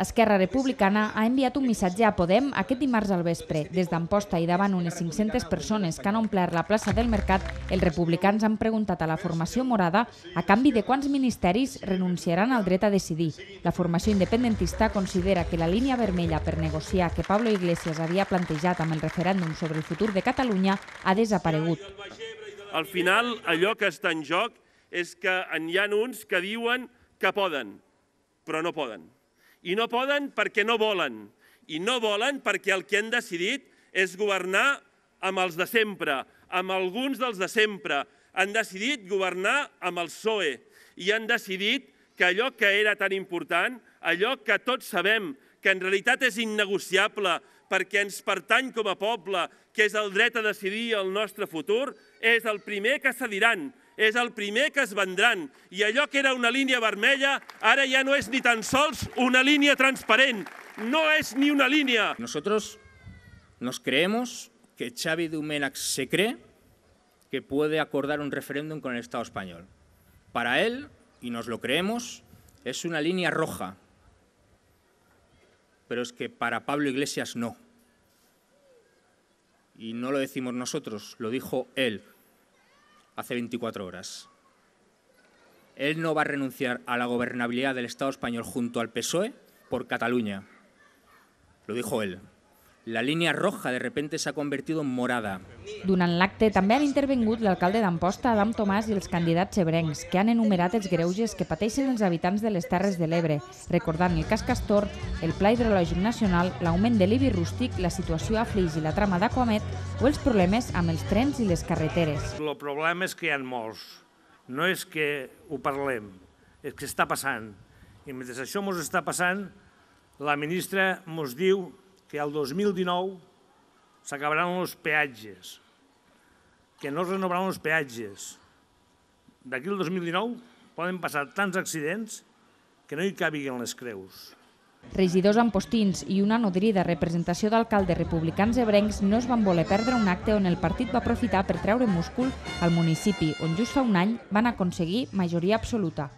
Esquerra Republicana ha enviat un missatge a Podem aquest dimarts al vespre. Des d'Amposta i davant unes 500 persones que han omplert la plaça del Mercat, els republicans han preguntat a la formació morada a canvi de quants ministeris renunciaran al dret a decidir. La formació independentista considera que la línia vermella per negociar que Pablo Iglesias havia plantejat amb el referèndum sobre el futur de Catalunya ha desaparegut. Al final, allò que està en joc és que hi ha uns que diuen que poden, però no poden. I no poden perquè no volen. I no volen perquè el que han decidit és governar amb els de sempre, amb alguns dels de sempre. Han decidit governar amb el PSOE i han decidit que allò que era tan important, allò que tots sabem que en realitat és innegociable perquè ens pertany com a poble, que és el dret a decidir el nostre futur, és el primer que cediran, és el primer que es vendran. I allò que era una línia vermella, ara ja no és ni tan sols una línia transparent. No és ni una línea. Nosotros nos creemos que Xavi Domènech se cree que puede acordar un referéndum con el Estado español. Para él, y nos lo creemos, es una línea roja. Pero es que para Pablo Iglesias no. Y no lo decimos nosotros, lo dijo él hace 24 horas. Él no va a renunciar a la gobernabilidad del Estado español junto al PSOE por Cataluña. Lo dijo él. La línia roja de repente s'ha convertit en morada. Durant l'acte també han intervingut l'alcalde d'Amposta, Adam Tomàs, i els candidats ebrencs, que han enumerat els greuges que pateixen els habitants de les Terres de l'Ebre, recordant el cas Castor, el Pla Hidrològic Nacional, l'augment de l'IBI rústic, la situació a Flix i la trama d'Aquamet o els problemes amb els trens i les carreteres. El problema és que hi ha molts. No és que ho parlem, és que està passant. I mentre això ens està passant, la ministra ens diu que el 2019 s'acabaran els peatges, que no es renovaran els peatges. D'aquí al 2019 poden passar tants accidents que no hi cabiguen les creus. Regidors ampostins i una nodrida representació d'alcaldes republicans ebrencs no es van voler perdre un acte on el partit va aprofitar per treure múscul al municipi, on just fa un any van aconseguir majoria absoluta.